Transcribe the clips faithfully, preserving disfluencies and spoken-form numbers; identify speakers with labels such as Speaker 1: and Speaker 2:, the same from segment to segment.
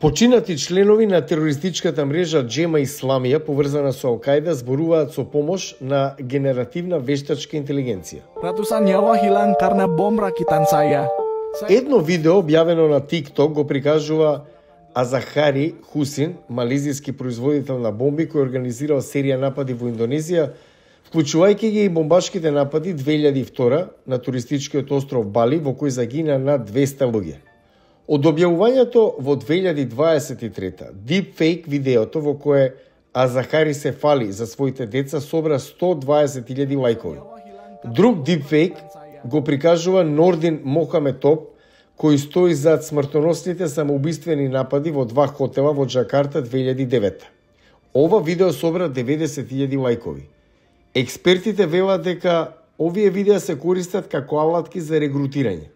Speaker 1: Починати членови на терористичката мрежа Джема Исламија, поврзана со Ал-Кајда, зборуваат со помош на генеративна вештачка интелигенција.
Speaker 2: Ratusan nyawa hilang karena bom rakitan saya.
Speaker 1: Едно видео објавено на TikTok го прикажува Азахари Хусин, малезијски производител на бомби кој организирал серија напади во Индонезија, вклучувајќи ги и бомбашките напади две илјади и втора на туристичкиот остров Бали, во кој загина над двеста луѓе. Од објавувањето во две илјади дваесет и трета, дипфейк видеото во кое Азахари се фали за своите деца собра сто дваесет илјади лајкови. Друг дипфейк го прикажува Нордин Мохаметоп, кој стои зад смртоносните самоубиствени напади во два хотела во Џакарта две илјади и девета. Ова видео собра деветдесет илјади лајкови. Експертите велат дека овие видеа се користат како алатки за регрутирање.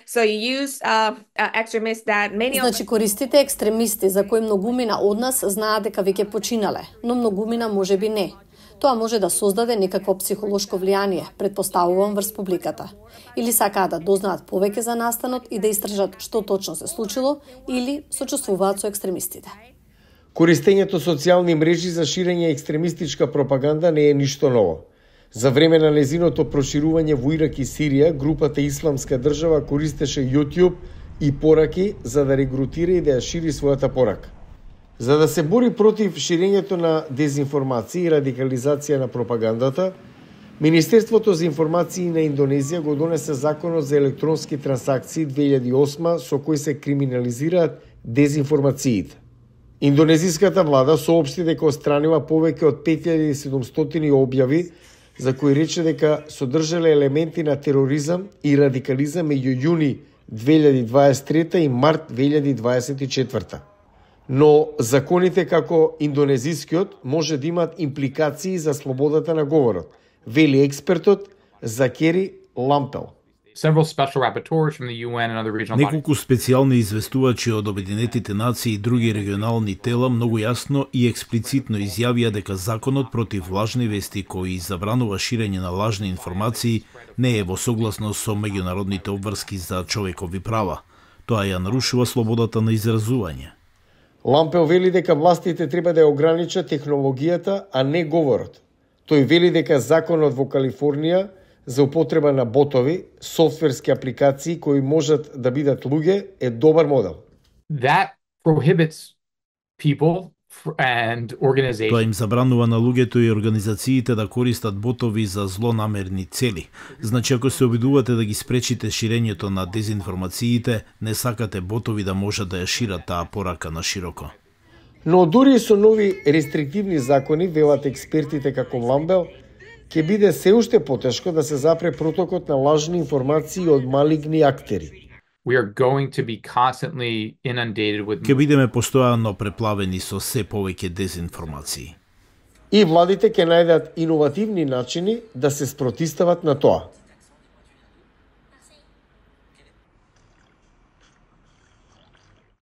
Speaker 3: So you use uh, uh, extremists that many of...
Speaker 4: Значи користите екстремисти за кои многумина од нас знаат дека веќе починале, но многумина можеби не. Тоа може да создаде некакво психолошко влијание, претпоставувам врз публиката. Или сакаат да дознаат повеќе за настанот и да истражат што точно се случило, или сочувствуваат со екстремистите.
Speaker 1: Користењето социјални мрежи за ширење екстремистичка пропаганда не е ништо ново. За време на незиното проширување во Ирак и Сирија, групата Исламска држава користеше YouTube и пораки за да регрутира и да ја шири својата порака. За да се бори против ширењето на дезинформација и радикализација на пропагандата, Министерството за информации на Индонезија го донесе Законот за електронски трансакции две илјади и осма со кој се криминализираат дезинформациите. Индонезиската влада соопшти дека отстранила повеќе од пет илјади и седумстотини објави за кои рече дека содржале елементи на тероризам и радикализам меѓу јуни две илјади дваесет и трета и март две илјади дваесет и четврта. Но законите како индонезискиот може да имаат импликации за слободата на говорот, вели експертот Закери Лампел.
Speaker 5: Неколку специјални известувачи од Обединетите нации и други регионални тела многу јасно и експлицитно изјавија дека законот против лажни вести кој забранува ширење на лажни информации не е во согласност со меѓународните обврски за човекови права. Тоа ја нарушува слободата на изразување.
Speaker 1: Лампел вели дека властите треба да ја ограничат технологијата, а не говорот. Тој вели дека законот во Калифорнија за употреба на ботови, софтверски апликации кои можат да бидат луѓе, е добар модел.
Speaker 6: That prohibits people and organizations.
Speaker 5: Тоа им забранува на луѓето и организациите да користат ботови за злонамерни цели. Значи, ако се обидувате да ги спречите ширењето на дезинформациите, не сакате ботови да можат да ја шират таа порака на широко.
Speaker 1: Но дури и со нови рестриктивни закони, велат експертите како Ламбел, ќе биде се уште потешко да се запре протокот на лажни информации од малигни актери.
Speaker 6: We are going to be constantly inundated with...
Speaker 5: Ке бидеме постојано преплавени со се повеќе дезинформации.
Speaker 1: И владите ќе најдат иновативни начини да се спротистават на тоа.